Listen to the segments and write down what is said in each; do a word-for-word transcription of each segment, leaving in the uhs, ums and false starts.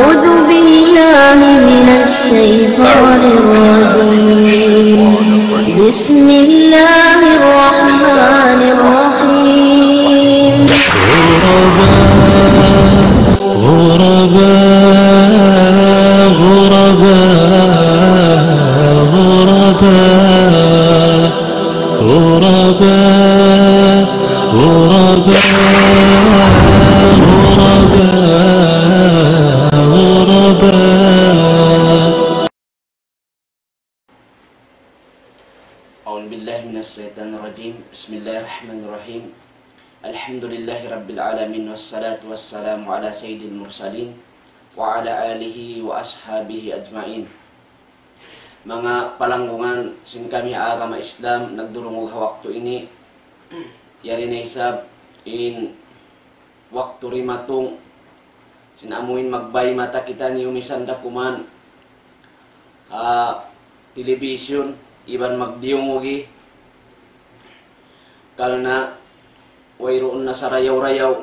أعوذ بالله من الشيطان الرجيم. بسم الله الرحمن الرحيم. غرباء، غرباء، غرباء، غرباء. غرباء، غرباء، غرباء، غرباء. أعوذ بالله من الشيطان الرجيم. بسم الله الرحمن الرحيم. الحمد لله رب العالمين، والصلاة والسلام على سيد المرسلين وعلى آله وأصحابه أجمعين. Manga palanggungan sin kami ha agama Islam, nagdurungug ha waktu ini, yari na isab in waktu dimatung sin amuin magbay mata kitaniyu misan da kuman ha television iban magdiyungugi, karna' wayruun na sarayaw-rayaw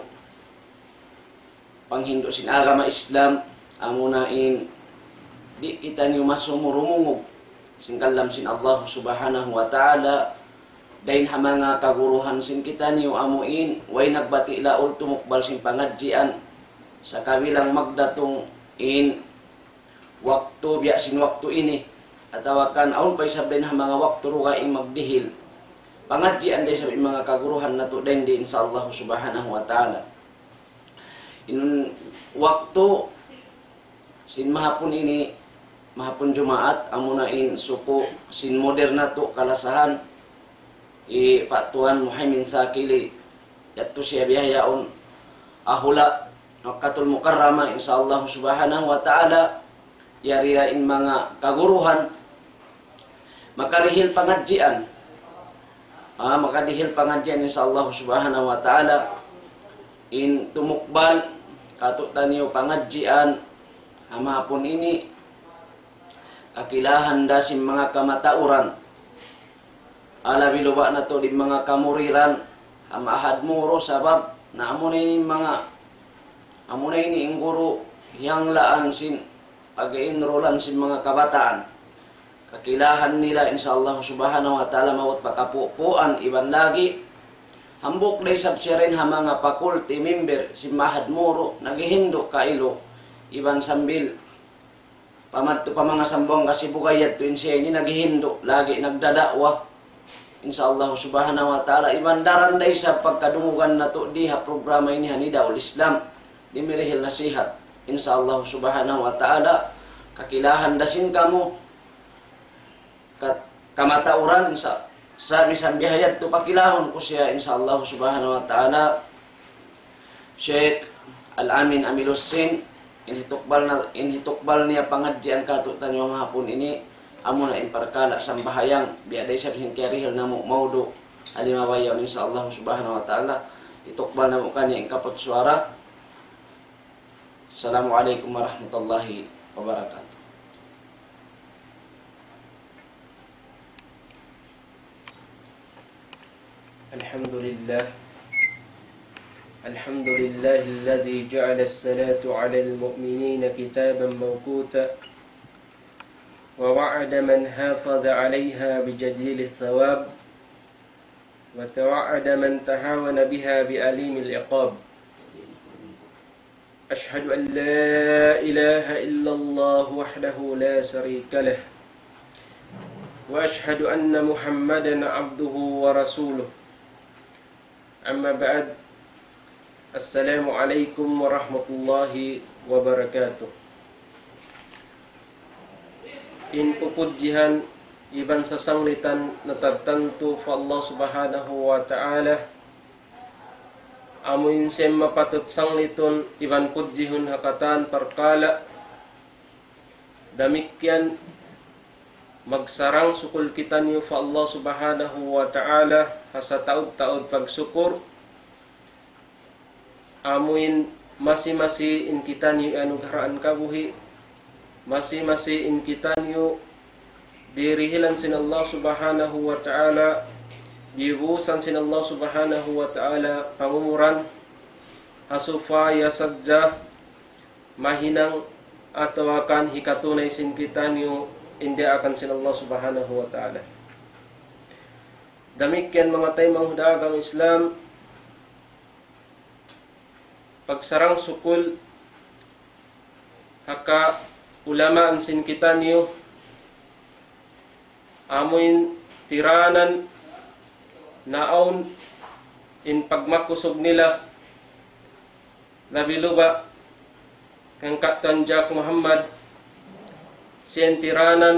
panghindu' sin agama Islam, amuna in di' kitaniyu masumu rumungug sin kalam sin Allah Subhanahu wa Ta'ala, dayn ha manga kaguruhan sin kitaniyu amuin way nagbati' laul tumukbal sin pangadjian, sakabilang magdatung in waktu biya' sin waktu ini, atawa kan awn pa isab dayn ha manga waktu dugaing magdihil pangadjian da isab in manga kaguruhan natu' dayn di, insya Allah Subhanahu wa Ta'ala. In waktu sin mahapun ini, mahapun Jumaat, amuna in suku' sin modern natu' kalasahan, hi Pak Tuan Muhaimin Sakili, yadtu siya bihaun ha hula' Makkatul Mukarramah, insya Allah Subhanahu wa Ta'ala, yari da in manga kaguruhan, makarihil pangadjian. Ah, makarihil pangadjian, insya Allah Subhanahu wa Ta'ala, in tumukbal kātu'niyu pangadjian ha mahapun ini, kakilahan da sin manga kamatauran. Labi luba' natu' di manga kamuriran ha Ma'had Moro, sabab na amuna ini manga, amuna ini in guru hiyanglaan sin pag-enrollan sin manga kabataan. Kakilahan nila, insya Allah Subhanahu wa Ta'ala, maabut pa kapupuan iban lagi'. Hambuuk da isab siya dayn ha manga faculty member sin Ma'had Moro, naghihindu' kailu, iban sambil pamadtu pa manga Sambuwangan, Sibu, Cagayan, yadtu in siya ini naghihindu', lagi' nagdada'wa. Insya Allah Subhanahu wa Ta'ala, iban daran da isab pagkadungugan natu' di ha programa ini ha Nidaul Islam, di' mirihil nasihat. Insya Allah Subhanahu wa Ta'ala, kakilahan da sin kamu, ka-, kamatauran, insya, sa' misan biya' ha yadtu pakilahun ku siya, insya Allah Subhanahu wa Ta'ala, Sheikh Al-Amin Amil Hussein, in hitukbal na, in hitukbal niya pangadjian kātu'niyu ha mahapun ini, amuna in parkala' sambahayang, biya' da isab sin kiyarihil namu' maudu', ha lima bayaun, insya Allah Subhanahu wa Ta'ala, hitukbal namu' kaniya in kaput suwara. Assalamu alaykum warahmatullahi wabarakatuh. الحمد لله. الحمد لله الذي جعل الصلاة على المؤمنين كتابا موقوتا، ووعد من حافظ عليها بجزيل الثواب، وتوعد من تهاون بها بأليم العقاب. أشهد أن لا إله إلا الله وحده لا شريك له، وأشهد أن محمدا عبده ورسوله. أما بعد، السلام عليكم ورحمة الله وبركاته. In pupudjihan iban sasanglitan natartantu pa Allah Subhanahu wa Ta'ala, amu in siya mapatut sanglitun iban pudjihun ha katan parkala'. Damikkiyan magsarang-sukul kitaniyu pa Allah Subhanahu wa Ta'ala ha sataud-taud pagsukur, amu in masi-masi in kitaniyu anugarahan kabuhi', masi-masi in kitaniyu dirihilan sin Allah Subhanahu wa Ta'ala, dibusan sin Allah Subhanahu wa Ta'ala pangumuran, ha supaya sadja mahinang atawa kan hikatunay sin kitaniyu in daakan sin Allah Subhanahu wa Ta'ala. Damikkiyan manga taymanghud ha agama Islam, pagsarang-sukul ha kaulamaan sin kitaniyu, amuin tiranan naawn in pagmakusug nila, labi luba' kan Katuan Jack Muhammad, siya in tiranan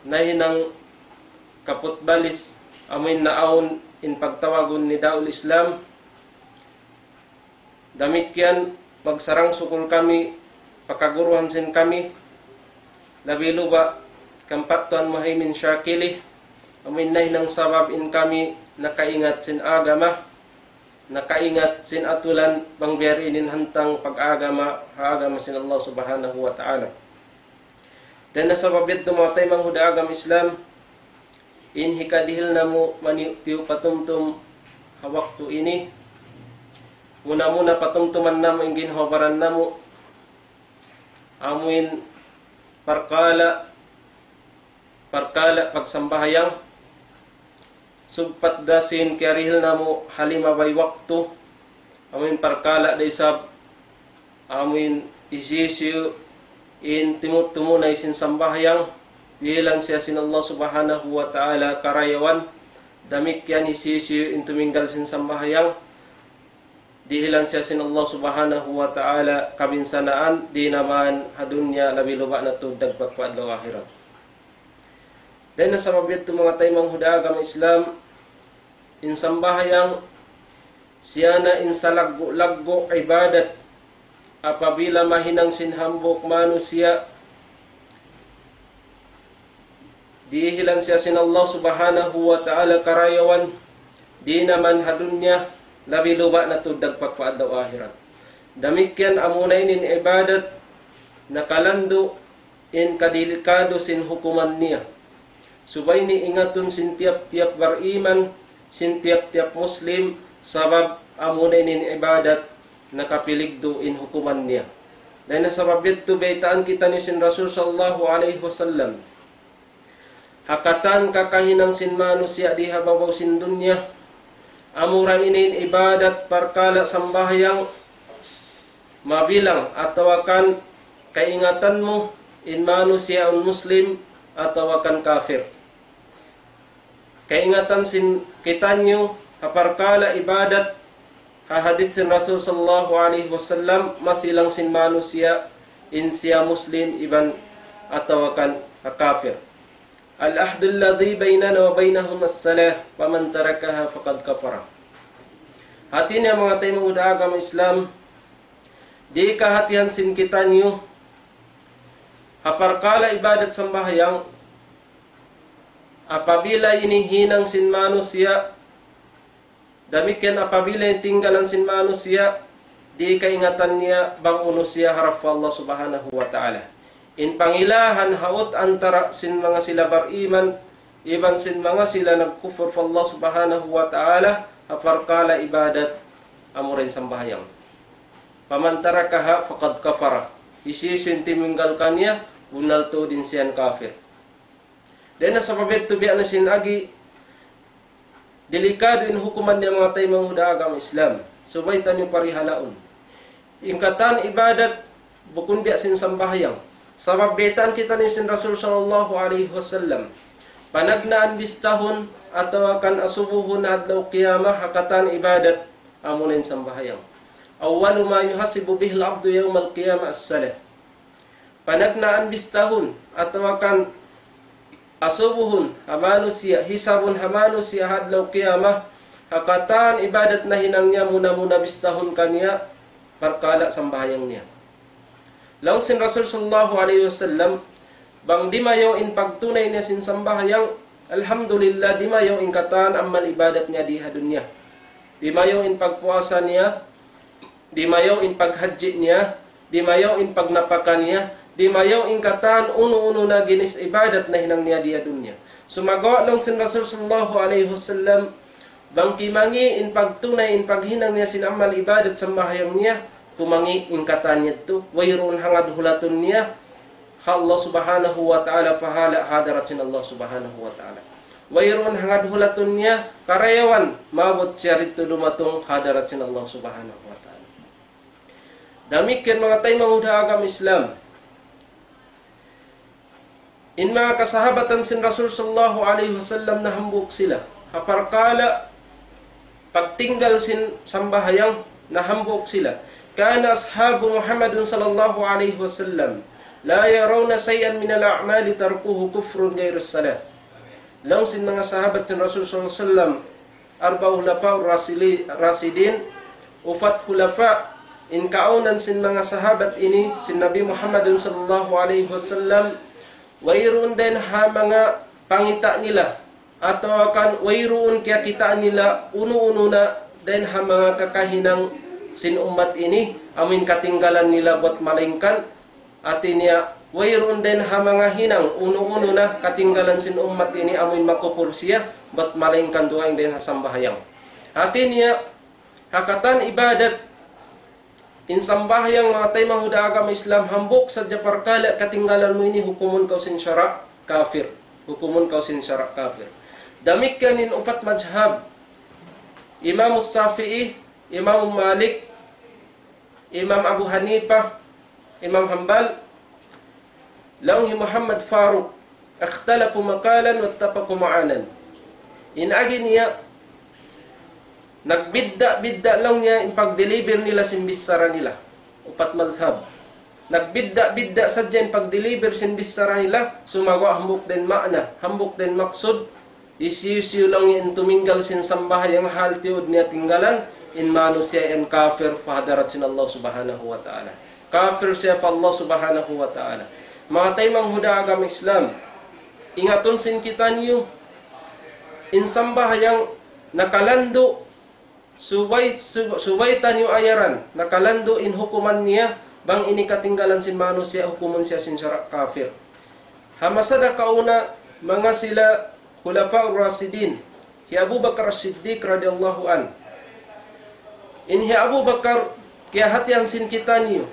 nahinang kaputbalis, amuin naawn in pagtawagun ni Daul Islam. Damikkiyan, magsarang-sukul kami pa kaguruhan sin kami, labi luba' kan Katuan Muhaymin Shakili, amuin nahinang sabab in kami nakaingat sin agama, nakaingat sin atulan bang biya' diin in hantang pag-agama, ha agama sin Allah Subhanahu wa Ta'ala. Dayn ha sabab yadtu manga taymanghud ha agama Islam, in hikadihil namu' maniyu'-tiyu' patumtum ha waktu ini, muna-muna patumtuman namu' in ginhawa-baran namu', amuin parkala', parkala' pagsambahayang, sugpat da sin kiyarihil namu' ha limabay waktu, amuin parkala' da isab, amuin hisiyu-siyu in timu-, tumunay sin sambahayang, dihilan siya sin Allah Subhanahu wa Ta'ala karayawan, damikkiyan hisiyu-siyu in tuminggal sin sambahayang, dihilan siya sin Allah Subhanahu wa Ta'ala kabinsanaan, di' na man ha dunya labi luba' na tuud dagpak pa adlaw akhirat. Dayn ha sabab yadtu manga taymanghud ha agama Islam, in sambahayang siya na in salaggu'-laggu' ibadat apabila mahinang sin hambuuk manusiya', dihilan siya sin Allah Subhanahu wa Ta'ala karayawan, di' na man ha dunya, labi luba' na tuud dagpak pa adlaw akhirat. Damikkiyan amuna ini in ibadat nakalandu' in kadelikadu sin hukuman niya. Subay ini ingatun sin tiyap-tiyap bariman, sin tiyap-tiyap Muslim, sabab amuna ini in ibadat nakapiligdu' in hukuman niya. Dayn ha sabab yadtu baytaan kitaniyu sin Rasul sallallahu alayhi wasallam, ha katan kakahinang sin manusiya' di ha babaw sin dunya, amura ini in ibadat parkala' sambahayang, mabilang atawa kan kaingatan mu in manusiya' awn Muslim atawa kan kafir. Kaingatan sin kitaniyu ha parkala' ibadat, ha hadith sin Rasul sallallahu alayhi wasallam, masi lang sin manusiya' in siya Muslim iban atawa kan kafir. العهد الذي بيننا وبينهم الصلاة فمن تركها فقد كفر. Hati niya manga taymanghud ha agama Islam, di' kahatihan sin kitaniyu ha parkala' ibadat sambahayang, apabila ini hinang sin manusiya', damikkiyan apabila in tinggalan sin manusiya', di' kaingatan niya bang unu siya harap pa Allah Subhanahu wa Ta'ala. In pangilahan haut antara sin manga sila bariman iban sin manga sila nagkufur pa Allah Subhanahu wa Ta'ala, ha parkala' ibadat, amura in sambahayang. فمن تركها فقد كفر. Hisiyu-siyu in timinggal kaniya, bunnal tuud in siya kafir. Dayn ha sabab yadtu biya' na sin agi, delikadu in hukuman niya manga taymanghud ha agama Islam. Subay taniyu parihalaun. In katan ibadat, bukun biya' sin sambahayang. Sabab baytaan kitaniyu sin Rasul sallallahu alayhi wasallam, panagnaan bistahun atawa kan asubuhun adlaw qiyamah ha katan ibadat, amuna in sambahayang. أول ما يحاسب به العبد يوم القيامة الصلاة. Panagnaan bistahun atawa kan asubuhun ha manusiya', hisabun ha manusiya' ha adlaw qiyamah, ha katan ibadat nahinang niya, muna-muna bistahun kaniya parkala' sambahayang niya. Laung sin Rasul sallallahu alayhi wasallam, bang dimayaw in pagtunay niya sin sambahayang, alhamdulillah, dimayaw in katan amal ibadat niya di ha dunya. Dimayaw in pagpuasa niya, dimayaw in paghajji niya, dimayaw in pagnapaka niya, dimayaw in katan unu-unu na ginis ibadat nahinang niya di ha dunya. Sumagawa' laung sin Rasul sallallahu alayhi wasallam, bang kimangi' in pagtunay in paghinang niya sin amal ibadat sambahayang niya, Kumangi' in katan yadtu, wayruun hangad hulatun niya ha Allah Subhanahu wa Ta'ala, pahala' hadarat sin Allah Subhanahu wa Ta'ala. Wayruun hangad hulatun niya karayawan maabut siya didtu dumatung hadarat sin Allah Subhanahu wa Ta'ala. Damikkiyan manga taymanghud ha agama Islam. In manga kasahabatan sin Rasul sallallahu alayhi wasallam nahambuuk sila. Ha parkala' pagtinggal sin sambahayang nahambuuk sila. كان أصحاب محمد صلى الله عليه وسلم لا يرون شيئا من الأعمال تركه كفر غير الصلاة. Laung sin manga sahabat sin Rasul sallallahu alayhi wasallam, arba'a khulafa rashili-, rashidin, upat khulafa, in kaawnan sin manga sahabat ini, sin Nabi Muhammadun sallallahu alayhi wasallam, wayruun dayn ha manga pangita' nila, atawa kan wayruun kiyakita' nila unu-unu na dayn ha manga kakahinang sin ummat ini, amuin katinggalan nila bat malaingkan, hati niya, wayruun dayn ha manga hinang unu-unu na katinggalan sin ummat ini amuin makupur siya, bat malaingkan dugaing dayn ha sambahayang. Hati niya, ha katan ibadat, in sambahayang manga taymanghud ha agama Islam, hambuuk sadja parkala' katinggalan mu ini hukumun kaw sin sara' kafir. Hukumun kaw sin sara' kafir. Damikkiyan in upat mazhab, Imam Shafi'i, Imam Malik, Imam Abu Hanifa, Imam Hanbal, laung hi Muhammad Faruq, اختلفوا مقالا واتفقوا معانا. In agi niya, nagbidda'-bidda' laung niya in pagdeliver nila sin bichara nila. Upat mazhab. Nagbidda'-bidda' sadja in pagdeliver sin bichara nila, sumagawa' hambuuk dayn maana, hambuuk dayn maksud, hisiyu-siyu laung in tuminggal sin sambahayang hal tiyud niya tinggalan, in manusiya' yan kafir pa hadarat sin Allah Subhanahu wa Ta'ala. Kafir siya pa Allah Subhanahu wa Ta'ala. Manga taymanghud ha agama Islam, ingatun sin kitaniyu, in sambahayang nakalandu', subay, sub-, subay taniyu ayaran, nakalandu' in hukuman niya, bang ini katinggalan sin manusiya', hukumun siya sin sara' kafir. Ha masa nakauna, manga sila Khulafa Rashidin, hi Abu Bakar As-Siddiq radiyallahu anhu. In hi Abu Bakar, kiyahatihan sin kitaniyu,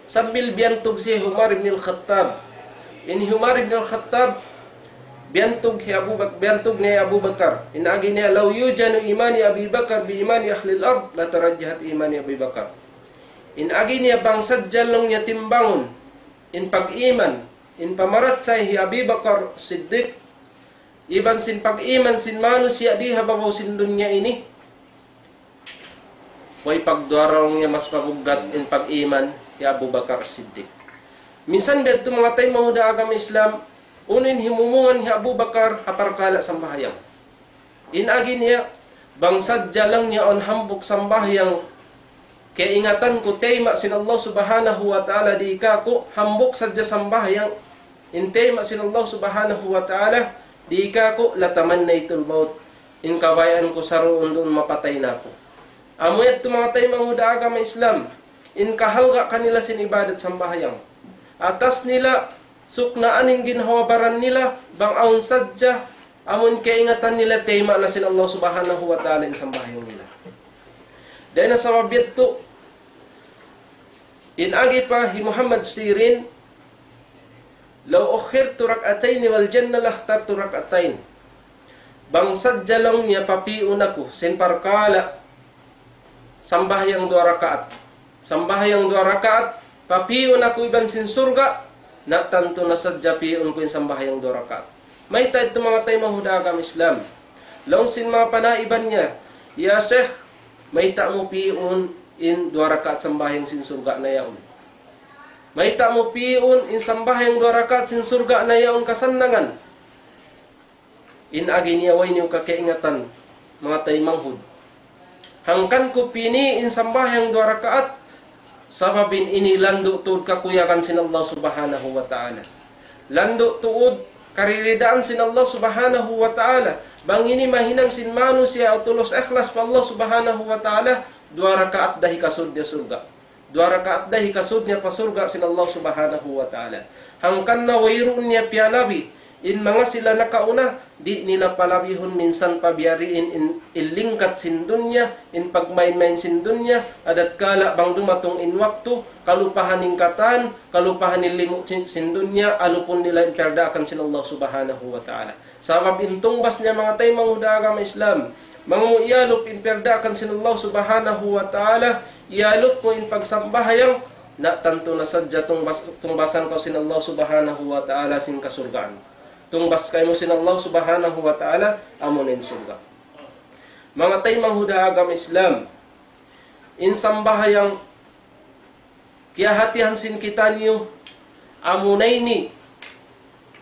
sambil biyantug siya hi Umar ibn al-Khattab. In hi Umar ibn al-Khattab, biyantug hi Abu Bak-, biyantug niya hi Abu Bakar. In agi niya, لو يوزن إيمان أبي بكر بإيمان أهل الأرض لترجحت إيمان أبي بكر. In agi niya bang sadja laung niya timbangun, in pag-iman, in pamarachaya hi Abi Bakar Siddiq, iban sin pag-iman sin manusiya' di ha babaw sin dunya ini, way pagduwa laung niya mas mabuggat in pag-iman hi Abu Bakar Siddiq. Minsan biya' ha yadtu manga taymanghud ha agama Islam, unu in himumungan hi Abu Bakar ha parkala' sambahayang. In agi niya, bang sadja laung niya awn hambuuk sambahayang kaingatan ku tayma' sin Allah Subhanahu wa Ta'ala dii kāku', hambuuk sadja sambahayang, in tayma' sin Allah Subhanahu wa Ta'ala dii kāku', لتمنيت الموت. In kabayaan ku saruun-duun mapatay na aku. Amu yadtu manga taymanghud ha agama Islam, in kahalga' kanila sin ibadat sambahayang. Atas nila, suknaan in ginhawa-baran nila, bang awn sadja, amun kaingatan nila tayma' na sin Allah Subhanahu wa Ta'ala in sambahayang nila. Dayn ha sabab yadtu, in agi pa hi Muhammad Sirin, لو أخرت ركعتين والجنة لاخترت ركعتين. Bang sadja laung niya papi'un aku sin parkala' sambahayang duwa rakaat. Sambahayang duwa rakaat, papi'un aku iban sin surga', na tantu na sadja pi'un ku in sambahayang duwa rakaat. Mayta' yadtu manga taymanghud ha agama Islam? Laung sin manga panaiban niya, "Ya Sheikh, mayta' mu pi'un in duwa rakaat sambahayang sin surga' na yaun? Mayta' mu pi'un in sambahayang duwa rakaat sin surga' na yaun kasannangan?" In agi niya, way niyu kakaingatan, manga taymanghud. Hangkan ku pī' in sambahayang duwa rakaat, sabab in ini landu' tuud kakuyagan sin Allah Subhanahu wa Ta'ala. Landu' tuud kariridaan sin Allah Subhanahu wa Ta'ala. Bang ini mahinang sin manusiya' tulus ikhlas pa Allah Subhanahu wa Ta'ala, duwa rakaat da hikasud niya surga'. Duwa rakaat da hikasud niya pa surga' sin Allah Subhanahu wa Ta'ala. Hangkan na wayruun niya piyalabi, In manga sila nakauna, di' nila palabihun minsan pa biya' diin in, in lingkat sin dunya, in pagmain-main sin dunya, adakala bang dumatung in waktu, kalupahan in katan, kalupahan in limu' sin, sin dunya, alupun nila in piyardaakan sin Allah Subhanahu wa Ta'ala. Sabab in tungbas niya manga taymanghud ha agama Islam, bang mu iyalup in piyardaakan sin Allah Subhanahu wa Ta'ala, iyalup mu in pagsambahayang, na tantu na sadja tungbas-, tungbasan kaw sin Allah Subhanahu wa Ta'ala sin kasurgaan. Tungbas kaymu sin Allah Subhanahu wa Ta'ala, amuna in surga'. Manga taymanghud ha agama Islam, in sambahayang kiyahatihan sin kitaniyu, amuna ini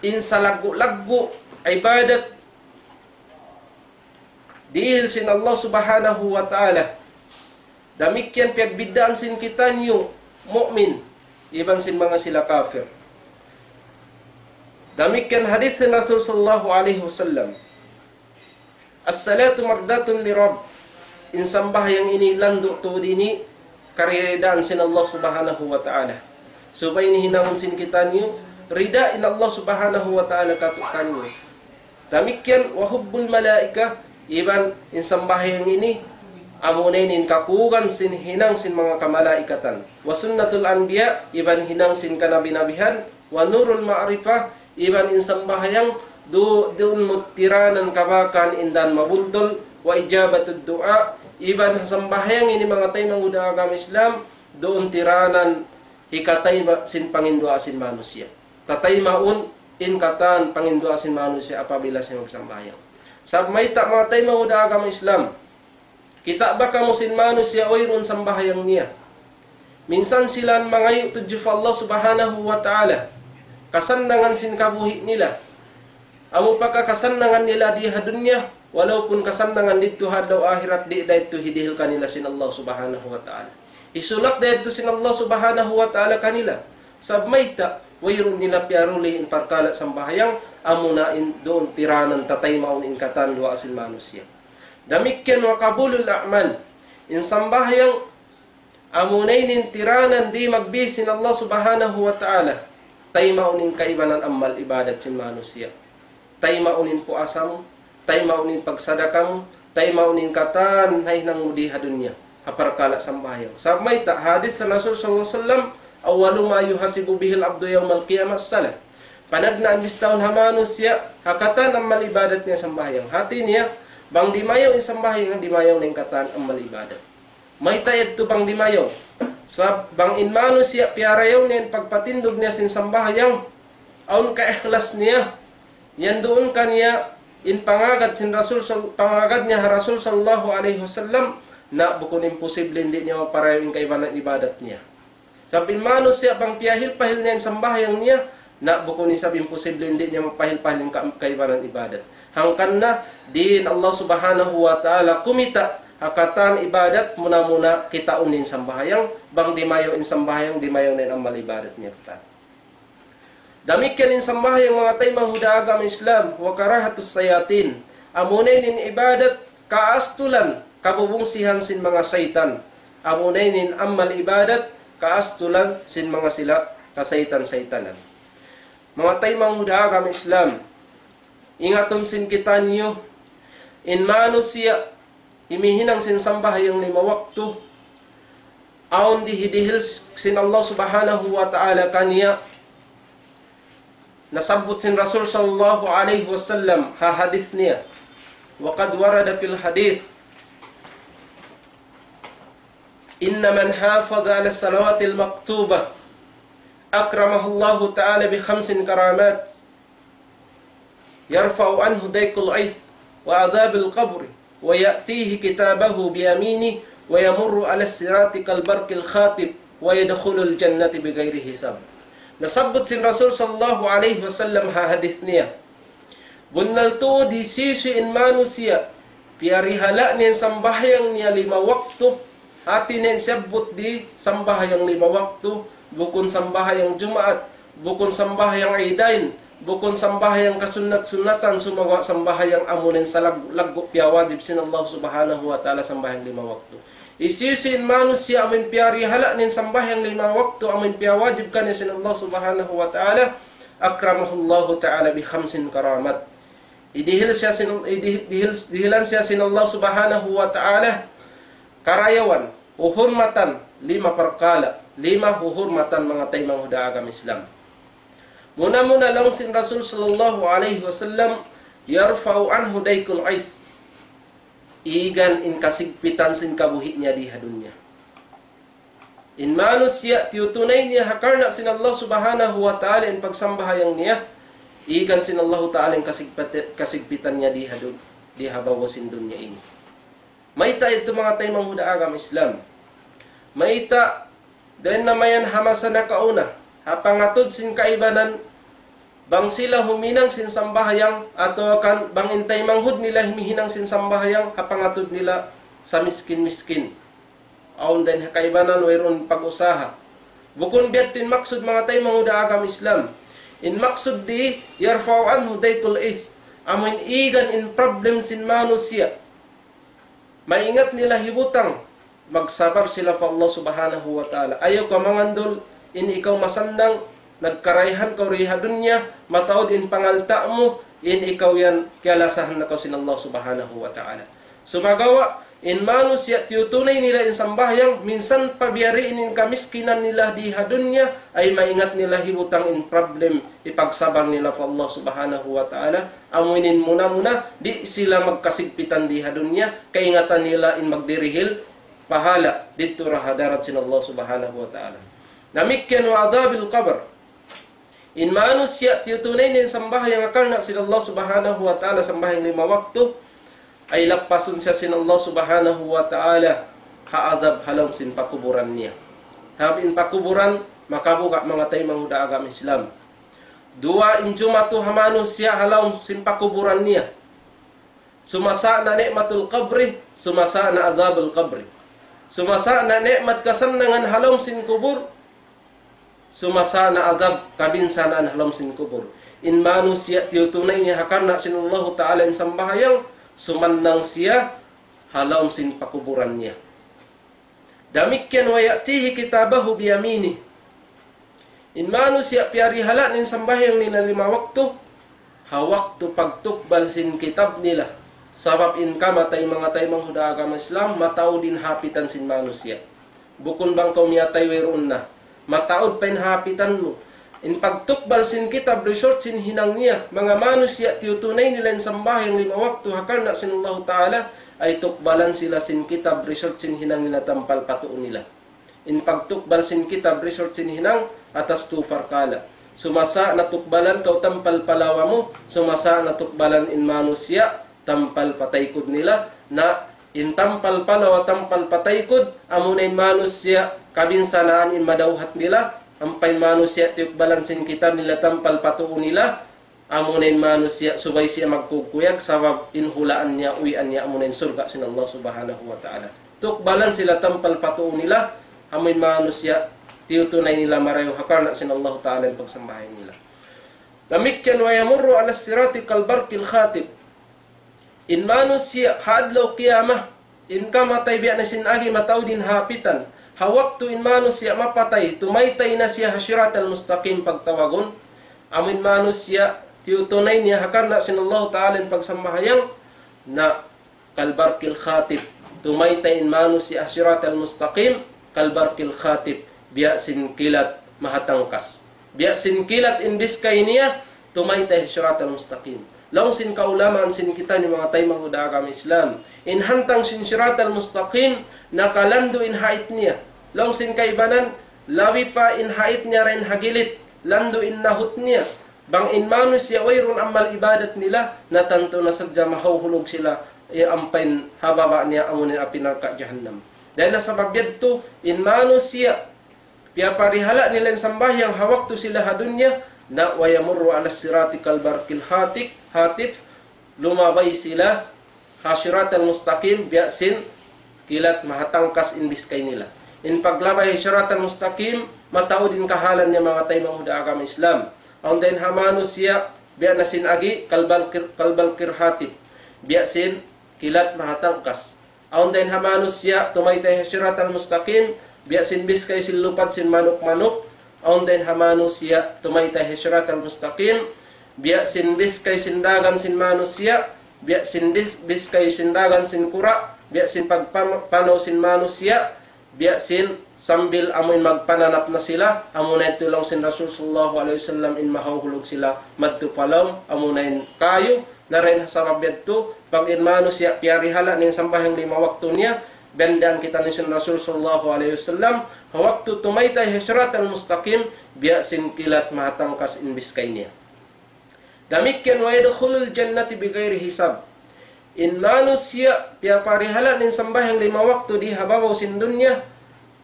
in salaggu'-laggu' ibadat dihil sin Allah Subhanahu wa Ta'ala. Damikkiyan piyagbiddaan sin kitaniyu mu'min iban sin manga sila kafir. Damikkiyan hadith sin Rasul sallallahu alayhi wasallam. الصلاة مرضاة للرب. In sambahayang ini landu' tuud ini kariridaan sin Allah Subhanahu wa Ta'ala. Subay ini hinangun sin kitaniyu, rida in Allah Subhanahu wa Ta'ala kātu'niyu. Damikkiyan وحب الملائكة, iban in sambahayang ini, amuna ini in kakugan sin hinang sin manga kamalaikatan. وسنة الأنبياء, iban hinang sin kanabi-nabihan, ونور المعرفة, iban in sambahayang du-, duun mu tiranan kabakan in dan mabuntul, وإجابة الدعاء, iban sambahayang ini manga taymanghud ha agama Islam, duun tiranan hikatayma' sin panginduwaa sin manusiya'. Tataymaun in katan panginduwaa sin manusiya' apabila siya magsambahayang. Sabab mayta' manga taymanghud ha agama Islam, kita' ba kamu sin manusiya' wayruun sambahayang niya? Minsan sila mangayu' tudju pa Allah Subhanahu wa Ta'ala, kasannangan sin kabuhi' nila. Amu pa ka kasannangan nila di ha dunya, walaupun kasannangan didtu ha adlaw akhirat, di' da yadtu hidihil kanila sin Allah Subhanahu wa Ta'ala. Hisulat da yadtu sin Allah Subhanahu wa Ta'ala kanila. Sabab mayta', wayruun nila piyaruli in parkala' sambahayang, amuna in duun tiranan tataymaun in katan duwaa sin manusiya'. Damikkiyan وقبول الأعمال. In sambahayang, amuna ini in tiranan di' magbis sin Allah Subhanahu wa Ta'ala. Taymaun in kaibanan amal ibadat sin manusiya'. Taymaun in puasa mu, taymaun in pagsadaka mu, taymaun in katan hinang mu di ha dunya. Ha parkala' sambahayang. Sabab mayta', hadith sin Rasul sallallahu alayhi wasallam, أول ما يحاسب به العبد يوم القيامة الصلاة. Panagnaan bistahun ha manusiya', ha katan amal ibadat niya sambahayang. Hati niya, bang dimayaw in sambahayang, dimayaw na in katan amal ibadat. Mayta' yadtu bang dimayaw? Sabab bang in manusiya' piyarayaw niya in pagpatindug niya sin sambahayang, awn kaikhlas niya, yan duun kaniya in pangagad sin Rasul sal-, pangagad niya ha Rasul sallallahu alayhi wasallam, na bukun imposible di' niya maparayaw in kaibanan ibadat niya. Sabab in manusiya' bang piyahil-pahil niya in sambahayang niya, na bukun isab imposible di' niya mapahil-pahil in ka-, kaibanan ibadat. Hangkan na, di' in Allah Subhanahu wa Ta'ala kumita' ha katan ibadat, muna-muna kitaun in sambahayang, bang dimayaw in sambahayang, dimayaw na in amal ibadat niya. Damikkiyan in sambahayang manga taymanghud ha agama Islam, وكراهة الشياطين. Amuna in ibadat kaastulan, kabubungsihan sin manga saytan. Amuna in amal ibadat kaastulan sin manga sila kasaytan-saytanan. Manga taymanghud ha agama Islam, ingatun sin kitaniyu, in manusiya' imihinang sin sambahayang lima waktu, awn dihil-dihil sin Allah Subhanahu wa Ta'ala kaniya, nasabbut sin Rasul sallallahu alayhi wasallam ha hadith niya. وقد ورد في الحديث: إن من حافظ على الصلوات المكتوبة أكرمه الله تعالى بخمس كرامات، يرفع عنه ضيق العيش وعذاب القبر، ويأتيه كتابه بيمينه، ويمر على الصراط كالبرق الخاطف، ويدخل الجنة بغير حساب. Nasabbut sin Rasul sallallahu alayhi wasallam ha hadith niya. Bunnal tuud hisiyu-siyu in manusiya', piyarihala' niya in sambahayang niya lima waktu, hati niya in siyabbut di sambahayang lima waktu, bukun sambahayang Jumaat, bukun sambahayang Idain, bukun sambahayang kasunnat-sunnatan, sumagawa' sambahayang amu in salaggu'-laggu' piyawajib sin Allah Subhanahu wa Ta'ala sambahayang lima waktu. Hisiyu-siyu in manusiya' amu in piyarihala' niya in sambahayang lima waktu amu in piyawajib kaniya sin Allah Subhanahu wa Ta'ala, أكرمه الله تعالى بخمس كرامات. Idihil siya sin, idih-, dihil, dihilan siya sin Allah Subhanahu wa Ta'ala karayawan, uhurmatan, lima parkala', lima uhurmatan manga taymanghud ha agama Islam. Muna-muna laung sin Rasul sallallahu alayhi wasallam, يرفع عنه ضيق العيش. Igan in kasigpitan sin kabuhi' niya di ha dunya. In manusiya' tiyutunay niya ha karna' sin Allah Subhanahu wa Ta'ala in pagsambahayang niya, igan sin Allah Ta'ala in kasigpit-, kasigpitan niya di ha dun-, di ha babaw sin dunya ini. Mayta' yadtu manga taymanghud ha agama Islam. Mayta' dayn na mayan ha masa nakauna, ha pangatud sin kaibanan, bang sila huminang sin sambahayang, atawa kan bang in taymanghud nila humihinang sin sambahayang, ha pangatud nila sa miskin-miskin. Awn dayn ha kaibanan wayruun pag-usaha. Bukun biya' yadtu in maksud manga taymanghud ha agama Islam. In maksud di, يرفع عنه ضيق العيش. Amu in igan in problem sin manusiya'. Maingat nila hibutang, magsabar sila pa Allah Subhanahu wa Ta'ala. Ayaw kaw mangandul, in ikaw masannang, nagkarayahan kaw di ha dunya, mataud in pangalta' mu, in ikaw yan, kiyalasahan na kaw sin Allah Subhanahu wa Ta'ala. Sumagawa', in manusiya' tiyutunay nila in sambahayang, minsan pa biya' diin in kamiskinan nila di ha dunya, ay maingat nila hibutang in problem, ipagsabar nila pa Allah Subhanahu wa Ta'ala, amu in muna-muna, di' sila magkasigpitan di ha dunya, kaingatan nila in magdirihil pahala' didtu ha hadarat sin Allah Subhanahu wa Ta'ala. Damikkiyan وعذاب القبر. In manusiya' tiyutunay niya in sambahayang ha karna' sin Allah Subhanahu wa Ta'ala, sambahayang lima waktu, ay lappasun siya sin Allah Subhanahu wa Ta'ala ha azab ha lawm sin pakuburan niya. Sabab in pakuburan, makabuga' manga taymanghud ha agama Islam. Duwa in jumatu ha manusiya' ha lawm sin pakuburan niya. Sumasa' na ni'matul qabri, sumasa' na azabul qabri. Sumasa' na ni'mat kasannangan ha lawm sin kubul, sumasa' na azab kabinsanaan ha lawm sin kubul. In manusiya' tiyutunay niya ha karna' sin Allahu Ta'ala in sambahayang, sumannang siya ha lawm sin pakuburan niya. Damikkiyan ويأتيه كتابه بيمينه. In manusiya' piyarihala' niya in sambahayang nila lima waktu, ha waktu pagtukbal sin kitab nila. Sabab in kamatay manga taymanghud ha agama Islam, mataud in hapitan sin manusiya'. Bukun bang kaw miyatay wayruun na. Mataud pa in hapitan mu. In pagtukbal sin kitab result sin hinang niya, manga manusiya' tiyutunay nila in sambahayang lima waktu ha karna' sin Allahu Ta'ala, ay tukbalan sila sin kitab result sin hinang nila tampal pa tuu nila. In pagtukbal sin kitab result sin hinang atas tu parkala'. Sumasa' na tukbalan kaw tampal pa lawa mu, sumasa' na tukbalan in manusiya' tampal pa taykud nila, na in tampal pa lawa tampal pa taykud, amuna in manusiya' kabinsanaan in madawhat nila, ampa in manusiya' tiyukbalan sin kitab nila tampal pa tuu nila, amuna in manusiya' subay siya magkukuyag sabab in hulaan niya, uwian niya, amuna in surga' sin Allah Subhanahu wa Ta'ala. Tukbalan sila tampal pa tuu nila, amu in manusiya' tiyutunay nila marayaw ha karna' sin Allah Ta'ala in pagsambahayang nila. Damikkiyan ويمر على الصراط كالبرق الخاطف. In manusiya' ha adlaw qiyamah, in kamatay biya' na sin agi mataud in hapitan. Ha waktu in manusiya' mapatay, tumaytay na siya ha siratal mustaqim pagtawagun. Amu in manusiya', tiyutunay niya ha karna' sin Allahu Ta'ala in pagsambahayang, na كالبرق الخاطف. Tumaytay in manusiya' ha siratal mustaqim, كالبرق الخاطف. Biya' sin kilat mahatangkas. Biya' sin kilat in biskay niya, tumaytay ha siratal mustaqim. Laung sin kaulamaan sin kitaniyu manga taymanghud ha agama Islam. In hantang sin siratal mustaqim, nakalandu' in hait niya. Laung sin kaibanan, labi pa in hait niya dayn ha gilit, landu' in nahut niya. Bang in manusiya' wayruun amal ibadat nila, na tantu na sadja mahauhulug sila, eh, ampa in ha baba' niya amu in api narka' jahannam. Dayn ha sabab yadtu, in manusiya', piyaparihala' nila in sambahayang ha waktu sila ha dunya, na ويمر على الصراط كالبرق الخاطف, lumabay sila ha siratal mustaqim, biya' sin kilat mahatangkas in biskay nila. In paglabay ha siratal mustaqim, mataud in kahalan niya manga taymanghud ha agama Islam. Awn dayn ha manusiya', biya' na sin agi, كالبرق, كالبرق الخاطف. Biya' sin kilat mahatangkas. Awn dayn ha manusiya', tumaytay ha siratal mustaqim, biya' sin biskay sin lupad sin manuk-manuk, awn dayn ha manusiya' tumaytay ha sirat al-mustaqim, biya' sin biskay sin dagan sin manusiya', biya' sin dis-, biskay sin dagan sin kura', biya' sin pagpam-, panaw sin manusiya', biya' sin sambil amuin magpananap na sila, amuna yadtu laung sin Rasul sallallahu alayhi wasallam in mahauhulug sila madtu pa lawm, amuna in kayu, na dayn ha sabab yadtu, pag in manusiya' piyarihala' niya in sambahayang lima waktu niya, biyandaan kitaniyu sin Rasul sallallahu alayhi wasallam, ha waktu tumaytay ha sirat al-mustaqim, biya' sin kilat mahatangkas in biskay niya. Damikkiyan, ويدخل الجنة بغير حساب. In manusiya' piyaparihala' niya in sambahayang lima waktu di ha babaw sin dunya,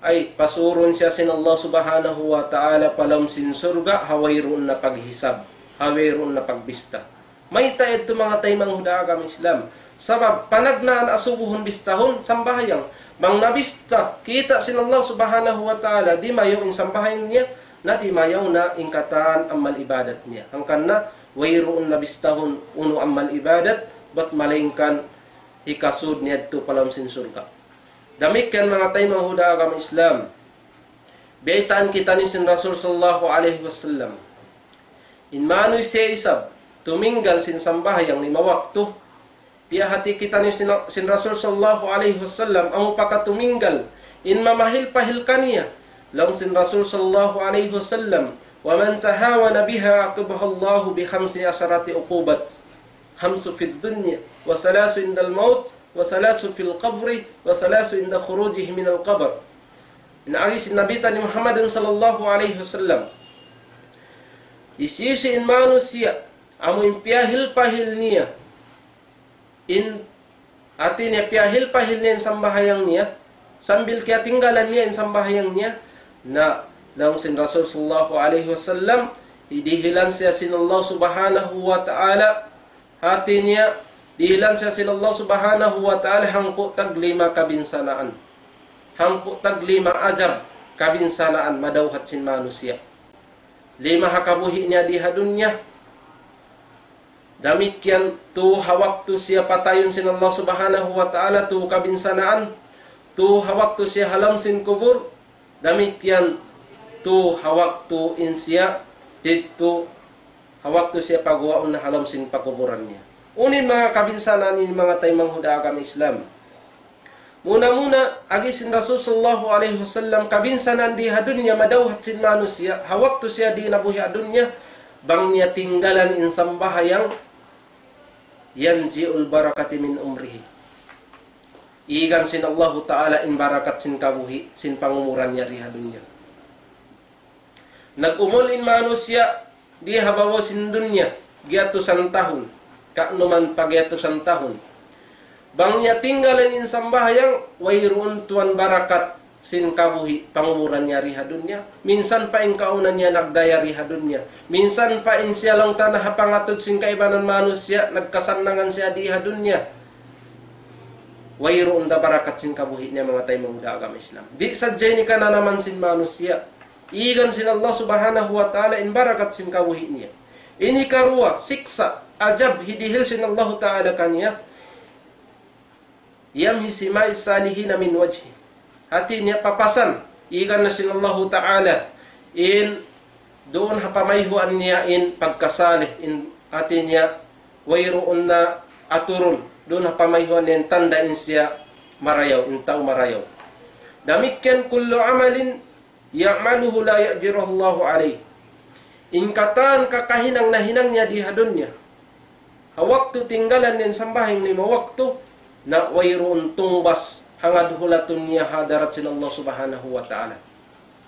ay pasurun siya sin Allah subhanahu wa ta'ala pa lawm sin surga', ha wayruun na paghisab, ha wayruun na pagbista. Mayta' yadtu manga taymanghud ha agama Islam? Sabab panagnaan asubuhun bistahun sambahayang. Bang nabista, kita' sin Allah subhanahu wa ta'ala, di' mayaw in sambahayang niya, na di' mayaw na in katan amal ibadat niya. Hangkan na, wayruun na bistahun unu amal ibadat, bat malaingkan hikasud niya yadtu pa lawm sin surga'. Damikkiyan manga taymanghud ha agama Islam. Baytaan kitaniyu sin Rasul sallallahu alayhi wasallam. In manusiya' isab, tuminggal sin sambahayang lima waktu, piyahati kitaniyu sin, sin Rasul sallallahu alayhi wasallam, amu pa katuminggal, in mamahil-pahil kaniya. Laung sin Rasul sallallahu alayhi wasallam, ومن تهاون بها عاقبه الله بخمس عشرة عقوبة، خمس في الدنيا، وثلاث عند الموت، وثلاث في القبر، وثلاث عند خروجه من القبر. In agi sin Nabi taniyu Muhammadun sallallahu alayhi wasallam. Hisiyu-siyu in manusiya', amu in piyahil-pahil niya, in hati niya piyahil-pahil niya in sambahayang niya, sambil kiyatinggalan niya in sambahayang niya, na laung sin Rasul sallallahu alayhi wasallam, dihilan siya sin Allah subhanahu wa ta'ala, hati niya, dihilan siya sin Allah subhanahu wa ta'ala hangpu' taglima kabinsanaan. Hangpu' taglima ajab kabinsanaan madawhat sin manusiya'. Lima ha kabuhi' niya di ha dunya. Damikkiyan tu ha waktu siya patayun sin Allah subhanahu wa ta'ala tu kabinsanaan. Tu ha waktu siya ha lawm sin kubul. Damikkiyan tu ha waktu in siya didtu ha waktu siya paguwaun na ha lawm sin pakuburan niya. Unu in manga kabinsanaan ini manga taymanghud ha agama Islam? Muna-muna, agi sin Rasul sallallahu alayhi wasallam, kabinsanaan di ha dunya madawhat sin manusiya', ha waktu siya di nabuhi' ha dunya, bang niya tinggalan in sambahayang, ينزع البركة من عمره. Igan sin Allahu ta'ala in barakat sin kabuhi', sin pangumuran niya di ha dunya. Nag-umul in manusiya' di ha babaw sin dunya, giyatusan tahun, ka'numan pa giyatusan tahun. Bang niya tinggalan in sambahayang, wayruun tuwan barakat sin kabuhi' pangumuran niya di ha dunya. Minsan pa in kaawnan niya nagdaya di ha dunya. Minsan pa in siya laung ta na ha pangatud sin kaibanan manusiya', nagkasannangan siya di ha dunya. Wayruun da barakat sin kabuhi' niya manga taymanghud ha agama Islam. Di' sadja ini kananaman sin manusiya'. Igan sin Allah subhanahu wa ta'ala in barakat sin kabuhi' niya. Ini karuwa, siksa', ajab, hidihil sin Allah ta'ala kaniya. يمحي سماء الصالحين من وجهه. Hati niya papasan, igan na sin Allahu ta'ala, in duun ha pamayhuan niya in pagkasalih, in hati niya wayruun na aturun, duun ha pamayhuan niya in tanda' in siya marayaw, in tau marayaw. Damikkiyan كل عمل يعمله لا يأجره الله عليه. In katan kakahinang nahinang niya di ha dunya. Ha waktu tinggalan niya in sambahayang lima waktu, na wayruun tungbas hangad hulatun niya ha hadarat sin Allah subhanahu wa ta'ala.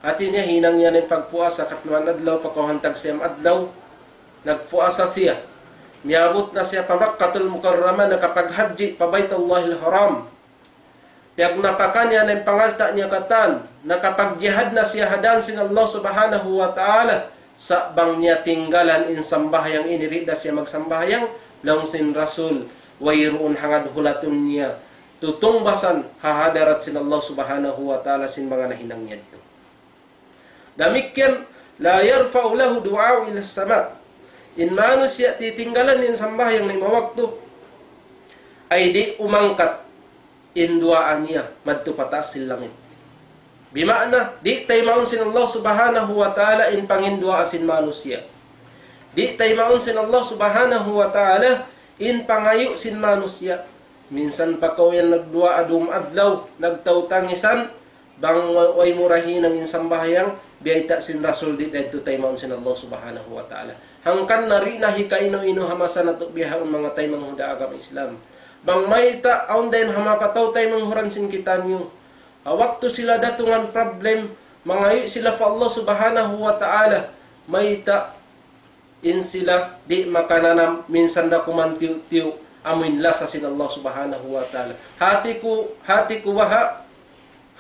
Hati niya hinang niya in pagpuasa katluan adlaw, pakawhan tag siyam adlaw, nagpuasa siya. Miyabut na siya pa Makkatul Mukarramah, nakapaghajji pa Baytullahil Haram. Piyagnapakan niya na in pangalta' niya katan, nakapagjihad na siya ha dan sin Allah subhanahu wa ta'ala, sa' bang niya tinggalan in sambahayang ini, di' da siya magsambahayang, laung sin Rasul, wayruun hangad hulatun niya tutungbasan ha hadarat sin Allah subhanahu wa ta'ala sin manga nahinang niya yadtu. Damikkiyan, لا يرفع له دعاء إلى السماء. In manusiya' titinggalan in sambahayang lima waktu, ay di' umangkat in duwaa niya madtu pa taas sin langit. Bima'na, di' taymaun sin Allah Subhanahu wa Ta'ala in panginduwaa sin manusiya'. Di' taymaun sin Allah Subhanahu wa Ta'ala in pangayu' sin manusiya'. Minsan pa kaw yan nagduwaa dum adlaw, nagtawtangisan, bang wa-, way mu ra hinang in sambahayang, biyayta' sin Rasul di' da yadtu taymaun sin Allah Subhanahu wa Ta'ala. Hangkan na di' na hikainu-inu ha masa natu' bihaun manga taymanghud ha agama Islam. Bang mayta' awn dayn ha manga kataw-taymanghuran sin kitaniyu. Ha waktu sila datungan problem, mangayu' sila pa Allah Subhanahu wa Ta'ala, mayta' in sila di' makananam minsan da kuman tiyu'-tiyu' amuin lasa sin Allah Subhanahu wa Ta'ala. Hati ku, hati ku baha',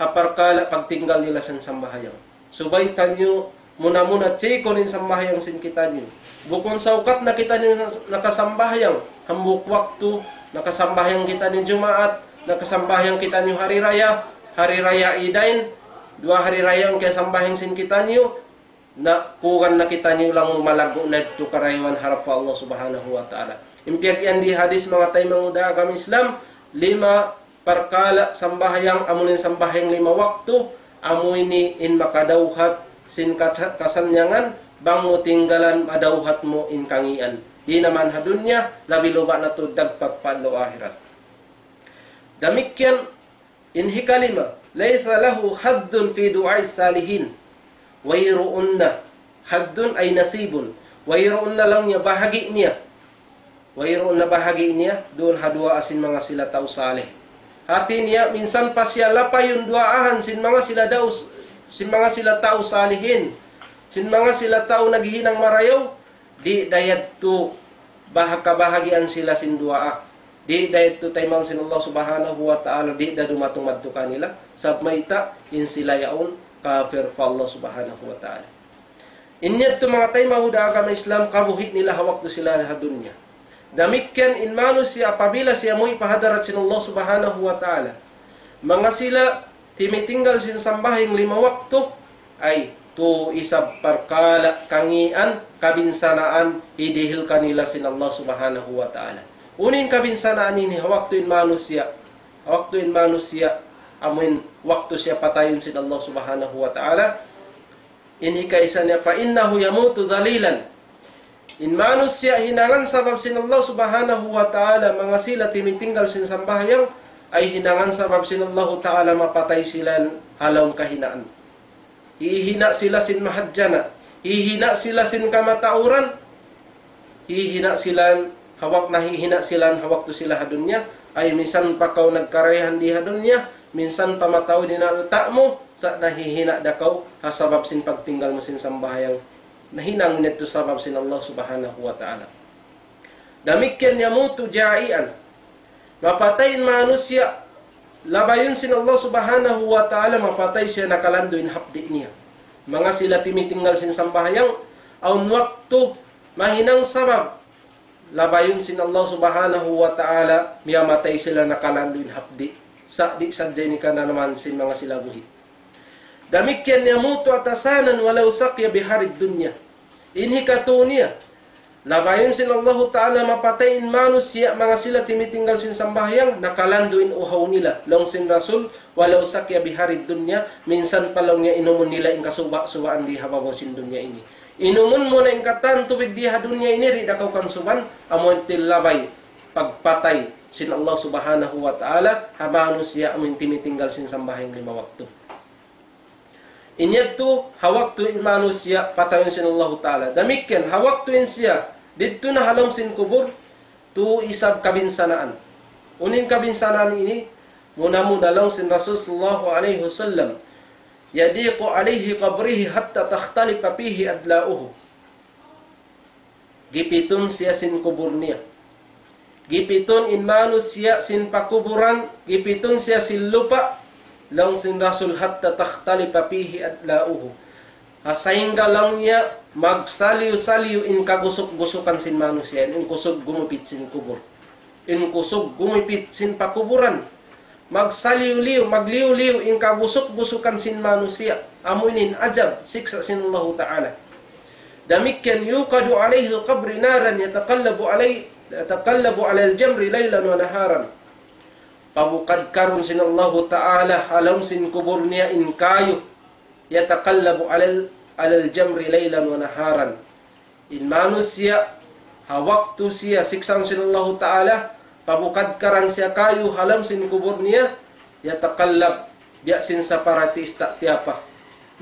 ha parkala' pagtinggal nila sin sambahayang. Subay taniyu muna-muna chikun in sambahayang sin kitaniyu. Bukun saukat na kitaniyu nakasambahayang hambuuk waktu, nakasambahayang kitaniyu Jumaat, nakasambahayang kitaniyu hari raya, hari raya Idain, duwa hari raya in kiyasambahayang sin kitaniyu, na kuwan na kitaniyu laung malaggu' na yadtu karayawan harap pa Allah Subhanahu wa Ta'ala. In piyag-iyan di hadis manga taymanghud ha agama Islam, lima parkala' sambahayang, amu in sambahayang lima waktu, amu ini in makadawhat sin kata-, kasannyangan, bang mu tinggalan madawhat mu in kangīan. Di' na man ha dunya, labi-labi na tuud dagpak pa adlaw ahirat. Damikkiyan, in hikalima, ليس له حظ في دعاء الصالحين. Wayruun na. حظ أي نصيب. Wayruun na laung niya bahagi' niya. Wayruun na bahagi' niya duun ha duwaa sin manga sila tau salih. Hati niya, minsan pa siya lapayun duwaahan sin manga sila daus, sin manga sila tau salihin, sin manga sila tau naghihinang marayaw, di' da yadtu baha-, kabahagian sila sin duwaa. Di' da yadtu taymaun sin Allah Subhanahu wa Ta'ala, di' da dumatung madtu kanila, sabab mayta', in sila yaun kafir pa Allah Subhanahu wa Ta'ala. In yadtu manga taymanghud ha agama Islam, kabuhi' nila ha waktu sila ha dunya. Damikkiyan in manusiya' apabila siya muwi' pa hadarat sin Allah Subhanahu wa Ta'ala, manga sila timitinggal sin sambahayang lima waktu, ay, tu isab parkala' kangīan, kabinsanaan, hidihil kanila sin Allah Subhanahu wa Ta'ala. Unu in kabinsanaan ini ha waktu in manusiya', ha waktu in manusiya', amuin waktu siya patayun sin Allah Subhanahu wa Ta'ala. In hikaisa niya, فإنه يموت ذليلا. In manusiya' hinangan sabab sin Allah Subhanahu wa Ta'ala, manga sila timitinggal sin sambahayang, ay hinangan sabab sin Allah Ta'ala mapatay sila ha lawm kahinaan. Hihina' sila sin mahadjana', hihina' sila sin kamatauran, hihina' sila, ha wak-, nahihina' sila ha waktu sila ha dunya, ay minsan pa kaw nagkarayahan di ha dunya, minsan pa mataud in alta' mu, sa' nahihina' da kaw, ha sabab sin pagtinggal mu sin sambahayang. Nahinang mu yadtu sabab sin Allah Subhanahu wa Ta'ala. Damikkiyan يموت جائعا. Mapatay in manusiya', labayun sin Allah Subhanahu wa Ta'ala, mapatay siya nakalandu' in hapdi' niya. Manga sila timitinggal sin sambahayang, awn waktu mahinang sabab, labayun sin Allah Subhanahu wa Ta'ala, miyamatay sila nakalandu' in hapdi'. Sa' di' sadja ini kananaman sin manga sila buhi'. Damikkiyan يموت عطشانا ولو سقي بحر الدنيا. In hikatu niya, labayun sin Allahu Ta'ala mapatay in manusiya' manga sila timitinggal sin sambahayang, nakalandu' in uhaw nila. Laung sin Rasul, ولو سقي بحر الدنيا, minsan pa laung niya inumun nila in kasuba'-subaan di ha babaw sin dunya ini. Inumun mu na in katan tubig di ha dunya ini, di' da kaw kansuban, amu in tillabay pagpatay sin Allah Subhanahu wa Ta'ala ha manusiya' amu in timitinggal sin sambahayang lima waktu. In yadtu ha waktu in manusiya' patayun sin Allahu Ta'ala. Damikkiyan ha waktu in siya didtu na ha lawm sin kubul, tu isab kabinsanaan. Unu in kabinsanaan ini, muna-muna laung sin Rasul sallallahu alayhi wasallam, يضيق عليه قبره حتى تختلف فيه أضلاعه. Gipitun siya sin kubul niya. Gipitun in manusiya' sin pakuburan, gipitun siya sin lupa', laung sin Rasul, حتى تختلف فيه أضلاعه. Ha sahingga laung niya magsaliyu-saliyu in kagusuk-gusukan sin manusiya', in kusug gumupit sin kubul. In kusug gumupit sin pakuburan. Magsaliyu-liyu, magliyu-liyu in kagusuk-gusukan sin manusiya'. Amu ini in ajab, siksa' sin Allahu Ta'ala. Damikkiyan, يوقد عليه القبر نارا يتقلب علي-، يتقلب على الجمر ليلا ونهارا. pabukadkarun sin Allahu Ta'ala ha lawm sin kubul niya in kayu, يتقلب على ال-، على الجمر ليلا ونهارا. In manusiya', ha waktu siya siksaun sin Allahu Ta'ala, pabukadkaran siya kayu ha lawm sin kubul niya, يتقلب, biya' sin saparati ista' tiyapa.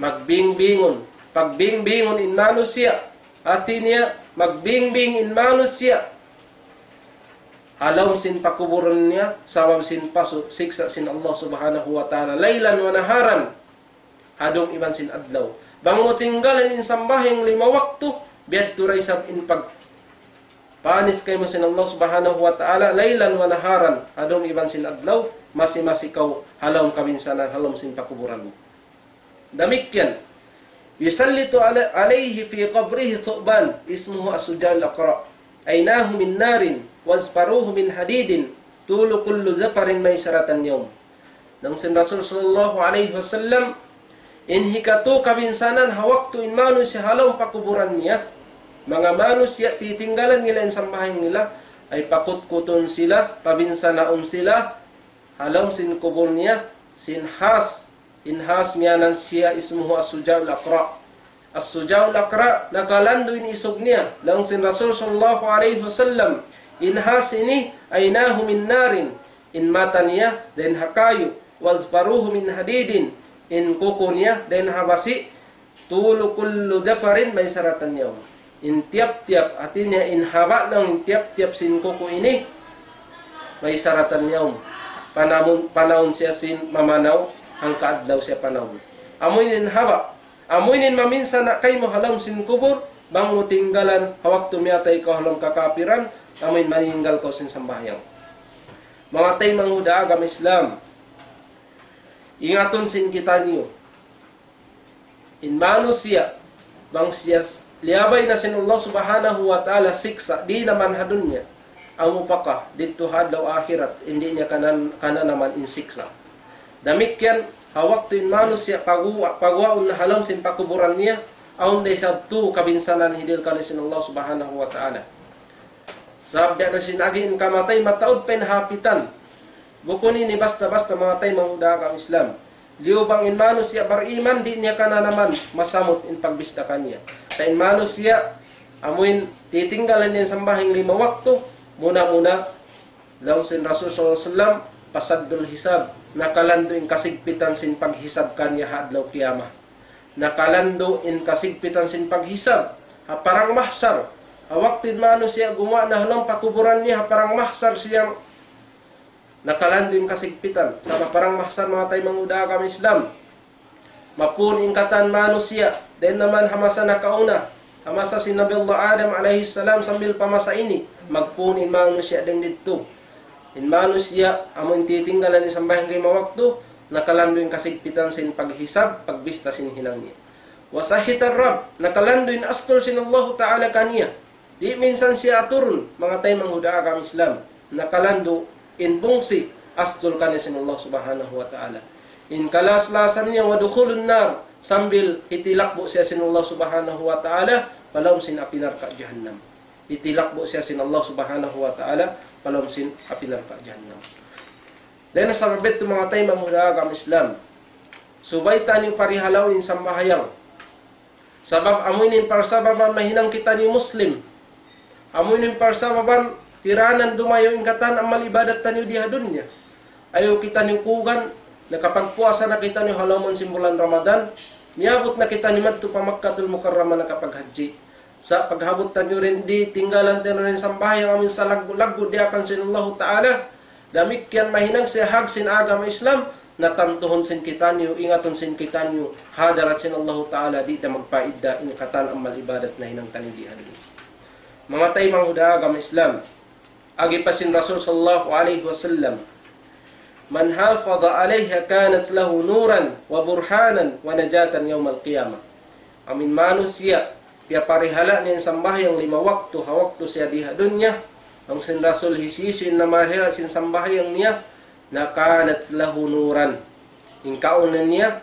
Magbingbingun, pagbingbingun in manusiya', hati niya, magbingbing in manusiya'. Ha lawm sin pakuburun niya, sabab sin pasu', siksa' sin Allah Subhanahu wa Ta'ala. ليلا ونهارا, ha dum iban sin adlaw. Bang mu tinggalan in sambahayang lima waktu, biya' da isab in pagpanis kaymu sin Allah Subhanahu wa Ta'ala, ليلا ونهارا, ha dum iban sin adlaw, masi-masi kaw ha lawm kabinsanaan, ha lawm sin pakuburan mu. Damikkiyan, يسلط على-، عليه في قبره ثعبان اسمه الشجاع الأقرع، عيناه من نار وأظفاره من حديد، طول كل ظفر مسيرة يوم. Laung sin Rasul sallallahu alayhi wasallam, in hikatu kabinsanaan ha waktu in manusiya' ha lawm pakuburan niya, manga manusiya' titinggalan nila in sambahayang nila, ay pakutkutun sila, pabinsanaun sila, ha lawm sin kubul niya, sin has, in has ngiyanan siya اسمه الشجاع الأقرع. الشجاع الأقرع, nakalandu' in isug niya. Laung sin Rasul sallallahu alayhi wasallam, in has ini, عيناه من نار, in mata niya dayn ha kayu, وأظفاره من حديد, in kuku niya dayn ha basi', طول كل ظفر مسيرة يوم. In tiyap-tiyap, hati niya in haba' laung in tiyap-tiyap sin kuku ini, مسيرة يوم. Panamun-, panahun siya sin mamanaw, hangka adlaw siya panahun. Amu in haba', amu in maminsana' kaymu ha lawm sin kubul, bang mu tinggalan, ha waktu miyatay kaw ha lawm kakapiran, amu in maninggal kaw sin sambahayang. Manga taymanghud ha agama Islam, ingatun sin kitaniyu. In manusiya', bang siya s-, liyabay na sin Allah Subhanahu wa Ta'ala siksa', di' naman ha dunya, amu pa ka, didtu ha adlaw akhirat, di' niya kanan-, kananaman in siksa'. Damikkiyan, ha waktu in manusiya' paguwa-, paguwaun na ha lawm sin pakuburan niya, awn da isab tu kabinsanaan hidihil kaniya sin Allah Subhanahu wa Ta'ala. Sabab biya' na sin agi in kamatay, mataud pa in hapitan. Bukun ini basta-basta, manga taymanghud ha agama Islam. Liyu bang in manusiya' bariman, di' niya kananaman, masamut in pagbista kaniya. Sa' in manusiya', amu in titinggalan niya in sambahayang lima waktu, muna-muna, laung sin Rasul sallallahu alayhi wasallam, أشد الحساب, nakalandu' in kasigpitan sin paghisab kaniya ha adlaw qiyamah. Nakalandu' in kasigpitan sin paghisab ha parang mahsar. Ha waktu in manusiya' gumuwa' na ha lawm pakuburan niya ha parang mahsar siya, nakalandu' in kasigpitan. Sa' ha parang mahsar, manga taymanghud ha agama Islam, mapun in katan manusiya', dayn naman ha masa nakauna, ha masa sin Nabi Allah Adam alayhi salam sambil pa masa ini, magpun in manusiya' dayn didtu. In manusiya', amu in titinggalan in sambahayang lima waktu, nakalandu' in kasigpitan sin paghisab, pagbista sin hinang niya. وسخط الرب, nakalandu' in astul sin Allahu Ta'ala kaniya. Di' minsan siya aturun, manga taymanghud ha agama Islam. Nakalandu' in bungsi, astul kaniya sin Allah Subhanahu wa Ta'ala. In kalas-lasan niya, ودخول النار, sambil hitilakbu' siya sin Allah Subhanahu wa Ta'ala, pa lawm sin api narka' jahannam. Hitilakbu' siya sin Allah Subhanahu wa Ta'ala, pa lawm sin api narka' jahannam. Dayn ha sabab yadtu, manga taymanghud ha agama Islam, subay taniyu parihalaun in sambahayang. Sabab amu ini in parsababan mahinang kitaniyu Muslim. Amu ini in parsababan tiranan dumayaw in katan amal ibadat taniyu di ha dunya. Ayaw kitaniyu kugan, nakapagpuasa na kitaniyu ha lawm sin bulan Ramadan, miyabut na kitaniyu madtu pa Makkatul Mukarramah nakapaghajji. Sa' paghabut taniyu dayn di, tinggalan taniyu in sambahayang amu in salaggu'-laggu' diyaak sin Allahu Ta'ala. Damikkiyan mahinang siya hag sin agama Islam, natantuhun sin kitaniyu, ingatun sin kitaniyu, ha hadarat sin Allahu Ta'ala, di' da magpaidda in katan amal ibadat nahinang taniyu di ha dunya. Manga taymanghud ha agama Islam, agi pa sin Rasul sallallahu alayhi wasallam, من حافظ عليها كانت له نورا وبرهانا ونجاة يوم القيامة. Amu in manusiya', piyaparihala' niya in sambahayang lima waktu, ha waktu siya di ha dunya, laung sin Rasul hisiyu-siyu in namarihala' sin sambahayang niya, na كانت له نورا. In kaawnan niya,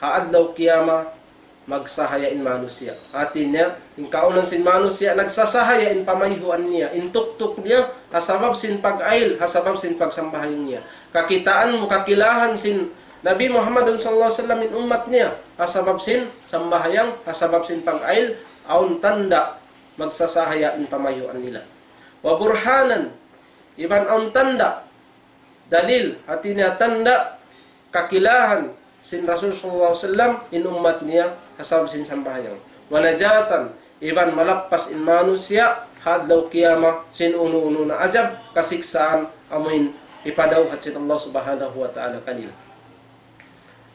ha adlaw qiyamah, magsahaya in manusiya'. Hati niya, in kaunan sin manusiya', nagsasahaya in pamayhuan niya, in tuktuk niya, ha sabab sin pag-ayil, ha sabab sin pagsambahayang niya. Kakitaan mu, kakilahan sin Nabi Muhammad sallallahu alayhi wasallam in ummat niya, ha sabab sin sambahayang, ha sabab sin pag-ayil, awn tanda' magsasahaya in pamayhuan nila. Wa burhanan, iban awn tanda', dalil, hati niya tanda', kakilahan sin Rasul sallallahu alayhi wasallam in ummat niya ha sabab sin sambahayang. Wa najatan, iban malappas in manusiya' ha adlaw qiyamah sin unu-unu na ajab, kasiksaan, amuin hipadawhat sin Allah Subhanahu wa Ta'ala kanila.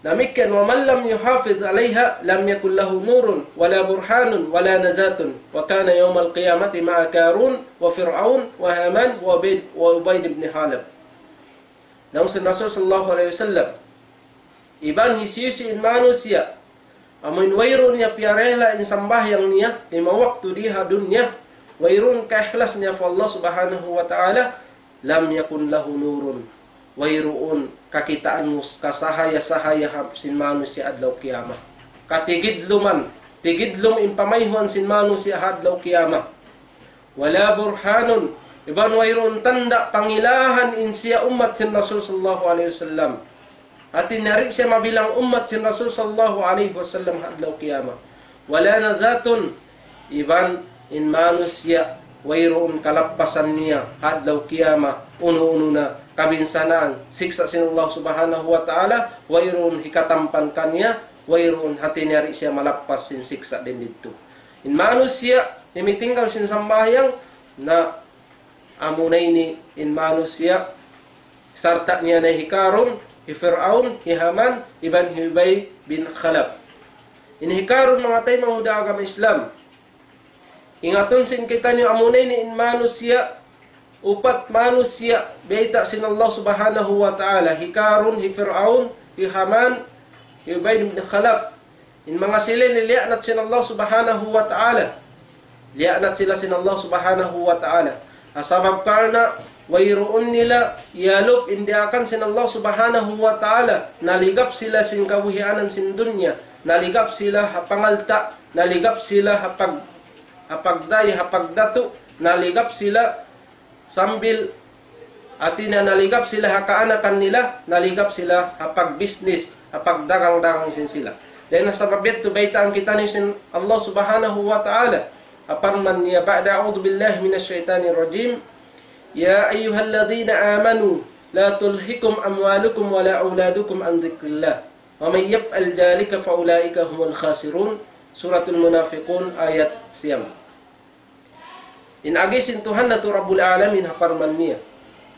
Damikkiyan, ومن لم يحافظ عليها لم يكن له نور ولا برهان ولا نجاة وكان يوم القيامة مع قارون وفرعون وهامان وأبي وأبي بن خلف. Laung sin Rasul sallallahu alayhi wasallam, iban hisiyu-siyu in manusiya', amuin wayruun niya piyarihil in sambahayang niya, lima waktu di ha dunya, wayruun kaikhlas niya pa Allah Subhanahu wa Ta'ala, لم يكن له نور. Wayruun kakitaan mu kasahaya-sahaya ha sin manusiya' adlaw qiyamah. Katigidluman, tigidlum in pamayhuan sin manusiya' ha adlaw qiyamah. ولا برهان, iban wayruun tanda' pangilahan in siya ummat sin Rasul sallallahu alayhi wasallam. Hati niya di' siya mabilang ummat sin Rasul sallallahu alayhi wasallam ha adlaw qiyamah. ولا نجاة, iban in manusiya' wayruun kalappasan niya ha adlaw qiyamah, unu-unu na kabinsanaan, siksa' sin Allah Subhanahu wa Ta'ala, wayruun hikatampan kaniya, wayruun, hati niya di' siya malappas sin siksa' dayn didtu. In manusiya' himitinggal sin sambahayang, na amuna ini in manusiya', sarta' niya na hi Karun, hi Fir'aun, hi Haman, iban hi Ubay bin Khalaf. In hi Karun, manga taymanghud ha agama Islam, ingatun sin kitaniyu, amuna ini in manusiya', upat manusiya', bayta' sin Allah Subhanahu wa Ta'ala, hi Karun, hi Fir'aun, hi Haman, hi Ubay bin Khalaf. In manga sila ini liyaanat sin Allah Subhanahu wa Ta'ala. Liyaanat sila sin Allah Subhanahu wa Ta'ala. Ha sabab karna' wayruun nila iyalup in diyaakan sin Allah Subhanahu wa Ta'ala. Naligap sila sin kabuhianan sin dunya. Naligap sila ha pangalta'. Naligap sila ha pag-, ha pagday, ha pagdatu'. Naligap sila sambil, hati niya, naligap sila ha kaanakan nila, naligap sila ha pagbisnis, ha pagdagang-dagang sin sila. Dayn ha sabab yadtu baytaan kitaniyu sin Allah Subhanahu wa Ta'ala. Ha parman niya, بعد أعوذ بالله من الشيطان الرجيم. يا أيها الذين آمنوا لا تلهكم أموالكم ولا أولادكم عن ذكر الله ومن يفعل ذلك فأولئك هم الخاسرون. Suratul Munafiqun, ayat siyam. In agi sin Tuhan natu' Rabbul Alamin ha parman niya,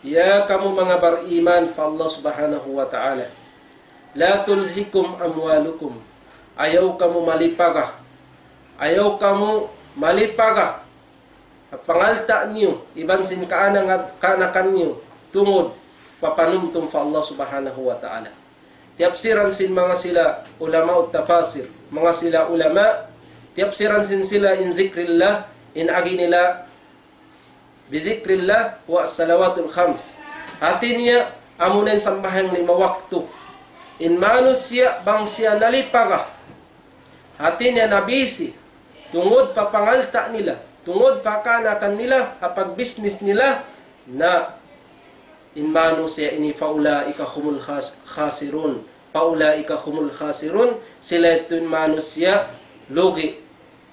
"Ya kamu manga bariman pa Allah Subhanahu wa Ta'ala, لا تلهكم أموالكم, ayaw kamu malipaga, ayaw kamu malipaga ha pangalta' niyu, iban sin kaanang-, kaanakan niyu, tungud pa panumtum pa Allah Subhanahu wa Ta'ala." Tiyapsiran sin manga sila ulama tafasir, manga sila ulama, tiyapsiran sin sila in zikrillah, in agi nila, بذكر الله والصلوات الخمس. Hati niya, amuna in sambahayang lima waktu. In manusiya' bang siya nalipaga, hati niya nabisi, tungud pa pangalta' nila, tungud pa kaanakan nila, ha pagbisnis nila, na in manusiya' ini, فأولئك هم الخاس-، خاسرون. فأولئك هم الخاسرون. Sila yadtu in manusiya' lugi'.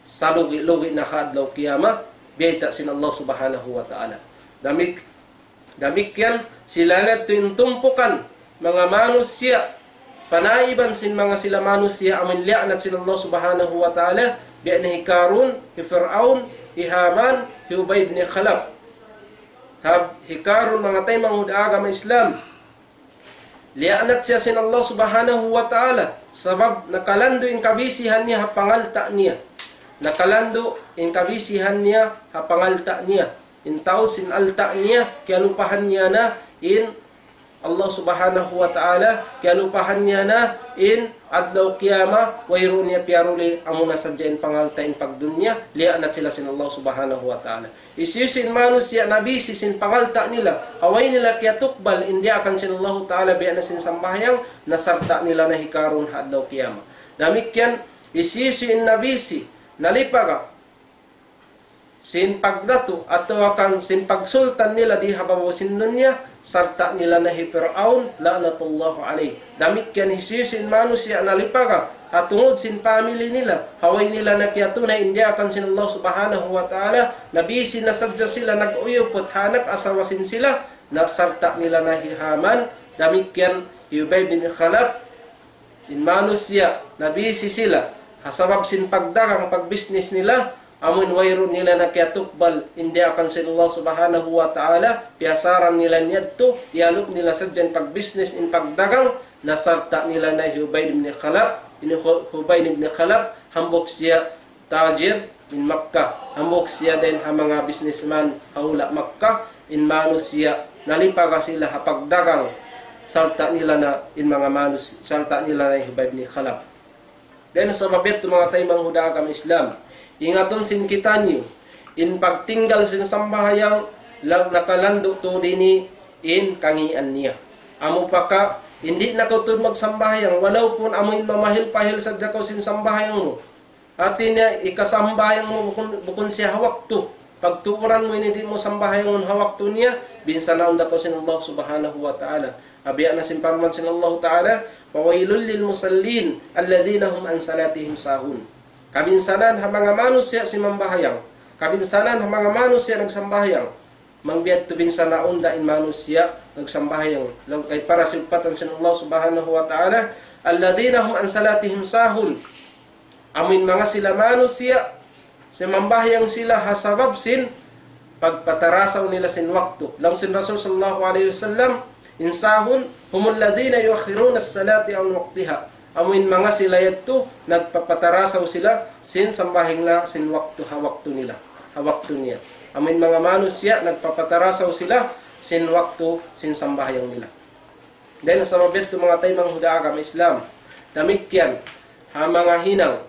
Salugi'-lugi' na ha adlaw qiyamah, biyayta' sin Allah Subhanahu wa Ta'ala. Damik-, damikkiyan, sila yadtu in tumpukan manga manusiya', panaiban sin manga sila manusiya' amun liyaanat sin Allah Subhanahu wa Ta'ala, biya' na hi Karun, hi Fir'aun, hi Haman, hi Ubay bin Khalaf. Hab, hi Karun, manga taymanghud ha agama Islam, liyaanat siya sin Allah Subhanahu wa Ta'ala, sabab nakalandu' in kabisihan niya ha pangalta' niya. Nakalandu' in kabisihan niya ha pangalta' niya. In tau sin alta' niya, kiyalupahan niya na in Allah Subhanahu wa Ta'ala, kiyalupahan niya na in adlaw qiyamah, wayruun niya piyaruli, amuna sadja in pangalta' in pagdunya, liyaanat sila sin Allah Subhanahu wa Ta'ala. Hisiyu-siyu in manusiya' nabisi sin pangalta' nila, ha way nila kiyatukbal in diyaakan sin Allahu Ta'ala biya' na sin sambahayang, na sarta' nila na hi Karun ha adlaw qiyamah. Damikkiyan, Hisiyu-siyu in nabisi, nalipaga sin pagdatu atawa kan sin pagsultan nila di ha babaw sin dunya, sarta' nila na hi Fir'aun, la'natullah alayh. Damikkiyan hisiyu-siyu in manusiya' nalipaga ha tungud sin pamili nila, ha way nila na kiyatunay in diyaakan sin Allah Subhanahu wa Ta'ala, nabisi na sadja sila nag-uyuput ha anak asawa sin sila, na sarta' nila na hi Haman, damikkiyan hi Ubay bin Khalaf, in manusiya', nabisi sila, ha sabab sin pagdagang, pagbisnis nila, amun wayruun nila na kiyatukbal in diyaakan sin Allah Subhanahu wa Ta'ala, piyasaran nila niyadtu, iyalup nila sadja in pagbisnis, in pagdagang, na sarta' nila na hi Ubay bin Khalaf, in Hu-, Ubay bin Khalaf, hambuuk siya tajir min Makkah, hambuuk siya dayn ha manga businessman ha hula' Makkah, in manusiya' nalipaga sila ha pagdagang, sarta' nila na in manga manus-, sarta' nila na hi Ubay bin Khalaf. Dayn ha sabab yadtu manga taymanghud ha agama Islam, ingatun sin kitaniyu, in pagtinggal sin sambahayang, la-, nakalandu' tuud ini in kangīan niya. Amu pa ka, di' na kaw tuud magsambahayang, walaupun amu in mamahil-pahil sadja kaw sin sambahayang mu. Hāti niya, hikasambahayang mu bukun, bukun siya ha waktu. Pagtuuran mu ini di' mu sambahayangun ha waktu niya, binsanaun da kaw sin Allah Subhanahu wa Ta'ala. Biya' na sin parman sin Allah Ta'ala, فَوَيْلٌ لِلْمُصَلِّينَ الَّذِينَ هُمْ عَنْ صَلَاتِهِمْ سَاهُونَ. Kabinsanaan ha manga manusiya' simambahayang. Kabinsanaan ha manga manusiya' nagsambahayang. Bang biya' ha yan binsanaun da in manusiya' nagsambahayang. Laung kay para siyumpatan sin Allah Subhanahu wa Ta'ala, الَّذِينَ هُمْ عَنْ صَلَاتِهِمْ سَاهُونَ. Amuin manga sila manusiya', simambahayang sila ha sabab sin pagpatarasaw nila sin waktu. Laung sin Rasul sallallahu alayhi wasallam, in sahun, هُمُ الَّذِينَ يُؤَخِّرُونَ الصَّلَاةَ عَنْ وَقْتِهَا. Amuin manga sila yadtu, nagpapatarasaw sila sin sambahayang nila, sin waktu ha waktu nila, ha waktu niya. Amuin manga manusiya', nagpapatarasaw sila sin waktu sin sambahayang nila. Dayn ha sabab yadtu manga taymanghud ha agama Islam. Damikkiyan, ha manga hinang,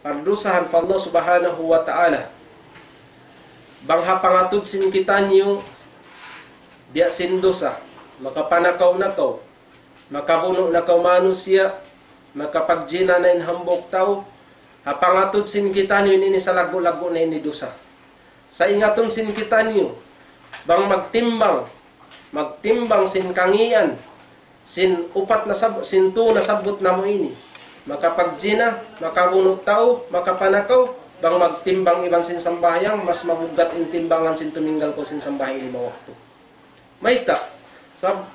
pardusahan pa Allah Subhanahu wa Ta'ala. Bang ha pangatud sin kitaniyu, biya' sin dusa, makapanakaw na kaw, makabunu' na kaw manusiya', makapagjina na in hambuuk tau, ha pangatud sin kitaniyu ini salaggu'-laggu' na ini dusa. Sa' ingatun sin kitaniyu, bang magtimbang, magtimbang sin kangīan, sin upat na sab-, sin tū nasabbut namu' ini. Makapagjina, makabunu' tau, makapanakaw, bang magtimbang iban sin sambahayang, mas mabuggat in timbangan sin tuminggal kaw sin sambahayang lima waktu. Mayta'? Sab-,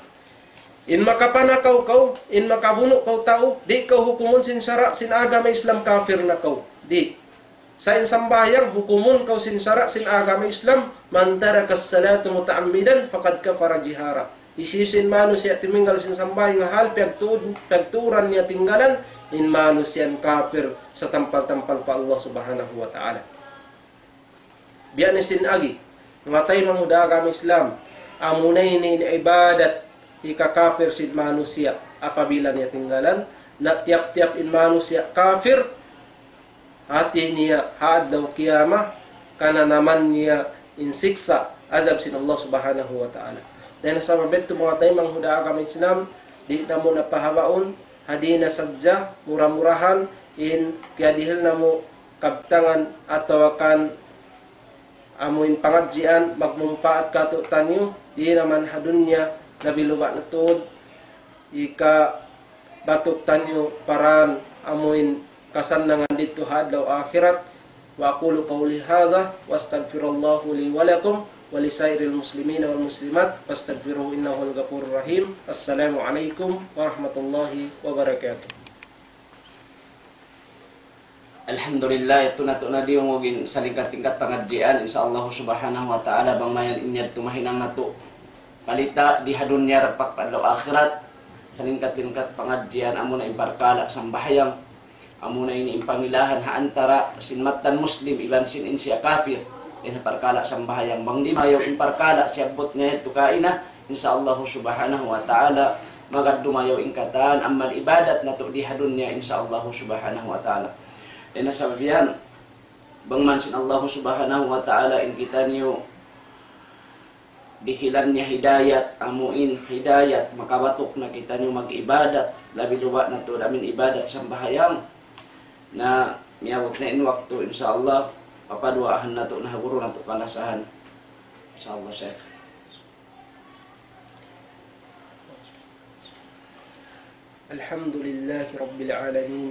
in makapanakaw kaw, in makabunu' kaw tau, di' kaw hukumun sin sara', sin agama Islam kafir na kaw. Di'. Sa' in sambahayang, hukumun kaw sin sara', sin agama Islam, مَنْ تَرَكَ الصَّلَاةَ مُتَعَمِّدًا فَقَدْ كَفَرَ جِهَارًا. Hisiyu-siyu in manusiya' timinggal sin sambahayang ha hal piyagtuud-, piyagtuuran niya tinggalan, in manusiya' yan kafir satampal-tampal pa Allah Subhanahu wa Ta'ala. Biya' na sin agi, manga taymanghud ha agama Islam, amuna ini in ibadat hikakafir sin manusiya' apabila niya tinggalan, na tiyap-tiyap in manusiya' kafir, hāti niya ha adlaw kiyamat, kananaman niya in siksa', azab sin Allah Subhanahu wa Ta'ala. Dayn ha sabab yadtu manga taymanghud ha agama Islam, di' namu' na pahabaun, ha di na sadja, mura-murahan, in kiyadihil namu' kabtangan atawa kan amu in pangadjian magmumpaat kātu'niyu, di' na man ha dunya, labi luba' na tuud, hikabatuk taniyu paraan amu in kasannangan didtu ha adlaw akhirat. وأقول قولي هذا وأستغفر الله لي ولكم ولسائر المسلمين والمسلمات فاستغفروه إنه هو الغفور الرحيم. السلام عليكم ورحمة الله وبركاته. Alhamdulillah, yadtu natu' na diyungug in salingkat-lingkat pangadjian, insya Allah subhanahu wa ta'ala, bang mayan in yadtu mahinang natu' palita' di ha dunya dagpak pa adlaw akhirat, salingkat-lingkat pangadjian, amuna in parkala' sambahayang, amuna ini in pangilahan ha antara' sin mattan Muslim iban sin in siya kafir, in parkala' sambahayang, bang di' mayaw in parkala' siyabbut niya yadtu kaina, insya Allah subhanahu wa ta'ala, magad dumayaw in katan amal ibadat natu' di ha dunya, insya Allah subhanahu wa ta'ala. Dayn ha sabab yan, bang man sin Allah subhanahu wa ta'ala in kitaniyu dihilan niya hidayat, amu in hidayat, makabatuk na kitaniyu mag-ibadat, labi luba' na tuud amu in ibadat sambahayang. Na miyabut na in waktu, insya Allah, papaduwaahan natu' na ha guru natu' kalasahan. Insya Allah, Sheikh. الحمد لله رب العالمين،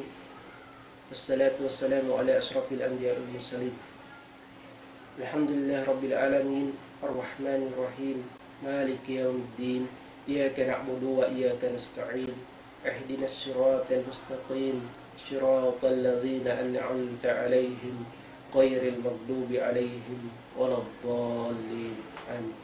والصلاة والسلام على أشرف الأنبياء والمرسلين. الحمد لله رب العالمين، الرحمن الرحيم، مالك يوم الدين، إياك نعبد وإياك نستعين، اهدنا الصراط المستقيم، صراط الذين أنعمت عليهم، غير المغضوب عليهم ولا الضالين. آمين.